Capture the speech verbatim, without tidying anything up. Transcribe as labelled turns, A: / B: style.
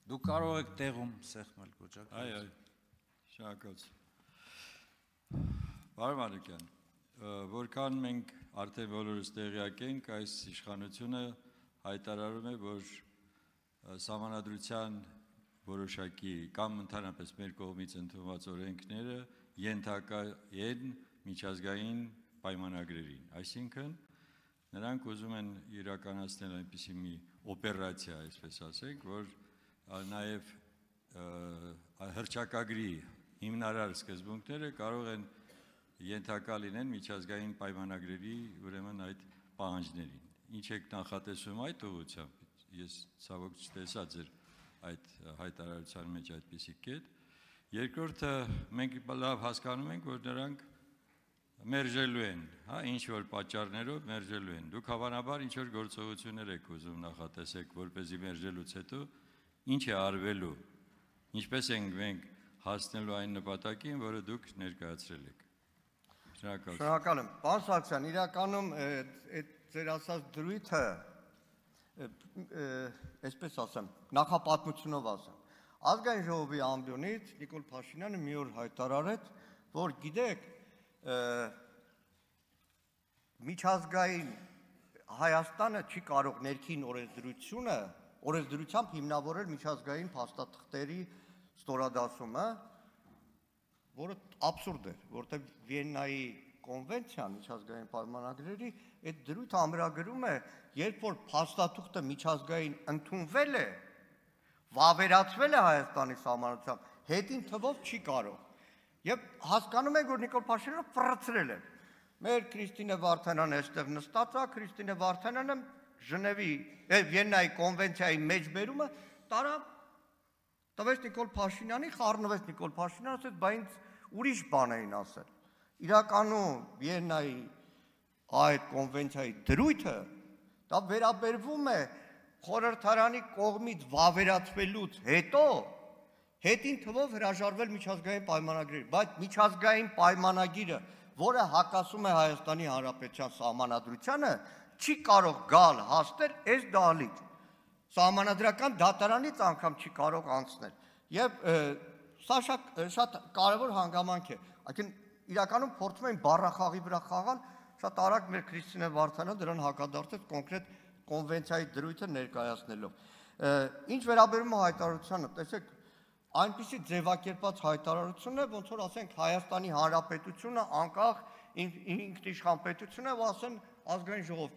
A: Դուք կարող եք տեղում սեղմել կոճակ։
B: Այ, այ, շնորհակալություն։ Պարոն Մանուկյան, որքան մենք արդեն բոլորս տեղյակ ենք, այս իշխանությունը հայտարարում է, որ Սահմանադրության որոշակի կամ ընդհանրապես մեր կողմից ընդունված օրենքները ենթակա են միջազգային պայմանագրերին, այսինքն նրանք ուզում են իրականացնել այնպիսի մի օպերացիա, այսպես ասենք, որ նաև հռչակագրի հիմնարար սկզբունքները կարող են ենթակա լինեն միջազգային պայմանագրերի ուրեմն այդ պահանջներին։ Ինչ եք նախատեսում այդ ուղղությամբ, ես ցավոք չտեսա ձեր այդ հայտարարության մեջ այդպիսի կետ։ Երկրորդը մենք լավ հասկանում ենք, որ նրանք մերժելու են, հա, ինչ որ պատճառներով մերժելու են։ Դուք հավանաբար ինչ որ գործողություններ եք ուզում նախատեսեք, որպեսզի մերժելուց հետո ինչ է արվելու, ինչպես ենք մենք հասնելու այն նպատակին, որը դուք ներկայացրել եք։ Շնորհակալ եմ։
C: Շնորհակալ եմ։ Պարոն Սարգսյան, իրականում այդ ձեր ասած դրույթը, այսպես ասեմ, նախապատմությունով ասեմ։ Ազգային ժողովի ամբիոնից Նիկոլ Փաշինյանը մի օր հայտարարեց, որ գիտեք, միջազգային Հայաստանը չի կարող ներքին օրենսդրությունը, օրենսդրությամբ հիմնավորել միջազգային փաստաթղթերի ստորադասումը, որը աբսուրդ էր, որտեղ Վիեննայի կոնվենցիան միջազգային պայմանագրերի այդ դրույթը ամրագրում է, երբ որ փաստաթուղթը միջազգային ընդունվել է, վավերացվել է Հայաստանի սահմանադրությամբ, հետին թվով չի կարող։ Եվ հասկանում եք, որ Նիկոլ Փաշինյանը ֆռցրել է։ Մեր Քրիստինե Վարդանյանը այստեղ նստած է, Քրիստինե Վարդանյանը Ժնևի, Վիեննայի կոնվենցիայի մեջբերումը տարա տվեց Նիկոլ Փաշինյանին, խառնվեց Նիկոլ Փաշինյանը, ասեց, բա ինձ ուրիշ բան էին ասել։ Իրականում Վիեննայի այդ կոնվենցիայի դրույթը դա վերաբերվում է խորհրդարանի կողմից վավերացվելուց հետո հետին թվով հրաժարվել միջազգային պայմանագրերի, բայց միջազգային պայմանագիրը, որը հակասում է Հայաստանի Հանրապետության սահմանադրությանը, չի կարող գալ հասնել այս դահլիճ։ Սահմանադրական դատարանից անգամ չի կարող անցնել։ Եվ սա շատ կարևոր հանգամանք է։ Այսինքն իրականում փորձում են բառախաղի վրա խաղալ, շատ արագ մեր Քրիստինե Վարդանյանը դրան հակադարձեց կոնկրետ կոնվենցիայի դրույթը ներկայացնելով։ Ինչ վերաբերում է հայտարարությանը, տեսեք, այնպիսի ձևակերպած հայտարարություն է, ոնց որ ասենք Հայաստանի Հանրապետությունը անկախ ինքնիշխան պետություն է, ու ասեն ազգային ժողով